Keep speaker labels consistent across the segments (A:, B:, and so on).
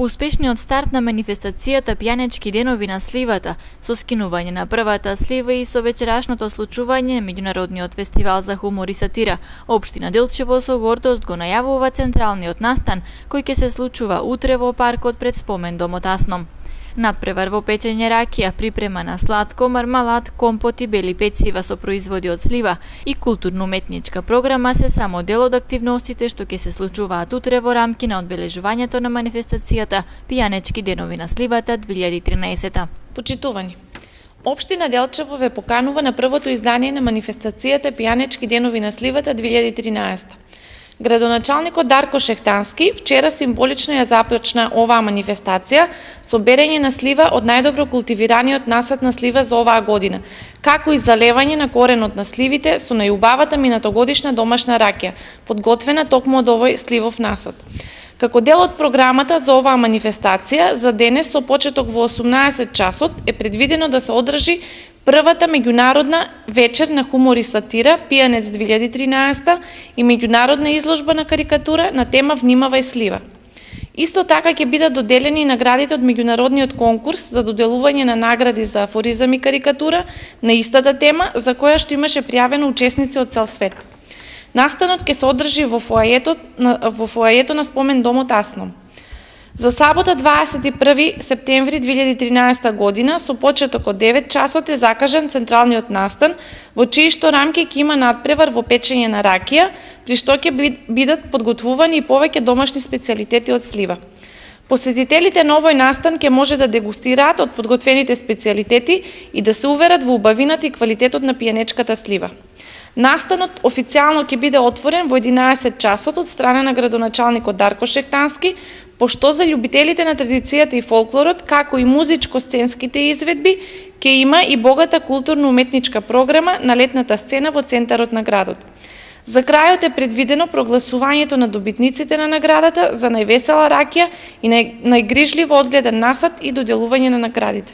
A: По успешниот старт на манифестацијата Пијанечки денови на сливата, со скинување на првата слива и со вечерашното случување на меѓународниот фестивал за хумор и сатира, општина Делчево со гордост го најавува централниот настан, кој ќе се случува утре во паркот пред спомен домот Асном. Надпревар во печење ракија, припрема на сладко, мармалад, компот и бели пецива со производи од слива и културно-уметничка програма се само дел од активностите што ќе се случуваат утре во рамки на одбележувањето на манифестацијата Пијанечки денови на сливата 2013.
B: Почитувани. Општина Делчево ве поканува на првото издание на манифестацијата Пијанечки денови на сливата 2013. Градоначалникот Дарко Шехтански вчера символично ја започна оваа манифестација со берење на слива од најдобро култивираниот насад на слива за оваа година, како и залевање на коренот на сливите со најубавата минатогодишна домашна ракија, подготвена токму од овој сливов насад. Како дел од програмата за оваа манифестација, за денес со почеток во 18 часот е предвидено да се одржи првата меѓународна вечер на хумор и сатира Пијанец 2013 и меѓународна изложба на карикатура на тема Внимавај слива. Исто така ќе бидат доделени наградите од меѓународниот конкурс за доделување на награди за афоризам и карикатура на истата тема за која што имаше пријавено учесници од цел свет. Настанот ќе се одржи во фоајето на спомен домот Асном. За сабота 21 септември 2013 година со почеток од 9 часот е закажан централниот настан, во чии што рамки ќе има надпревар во печење на ракија, при што ќе бидат подготвувани и повеќе домашни специјалитети од слива. Посетителите на овој настан ќе може да дегустираат од подготвените специјалитети и да се уверат во убавината и квалитетот на пијанечката слива. Настанот официјално ќе биде отворен во 11 часот од страна на градоначалникот Дарко Шехтански, пошто за љубителите на традицијата и фолклорот, како и музичко-сценските изведби, ќе има и богата културно-уметничка програма на летната сцена во центарот на градот. За крајот е предвидено прогласувањето на добитниците на наградата за највесела ракија и најгрижливо одгледан насад и доделување на наградите.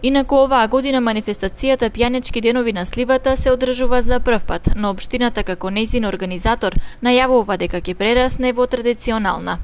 A: Инаку оваа година манифестацијата Пијанечки денови на сливата се одржува за прв пат, но општината како нејзин организатор најавува дека ќе прерасне во традиционална.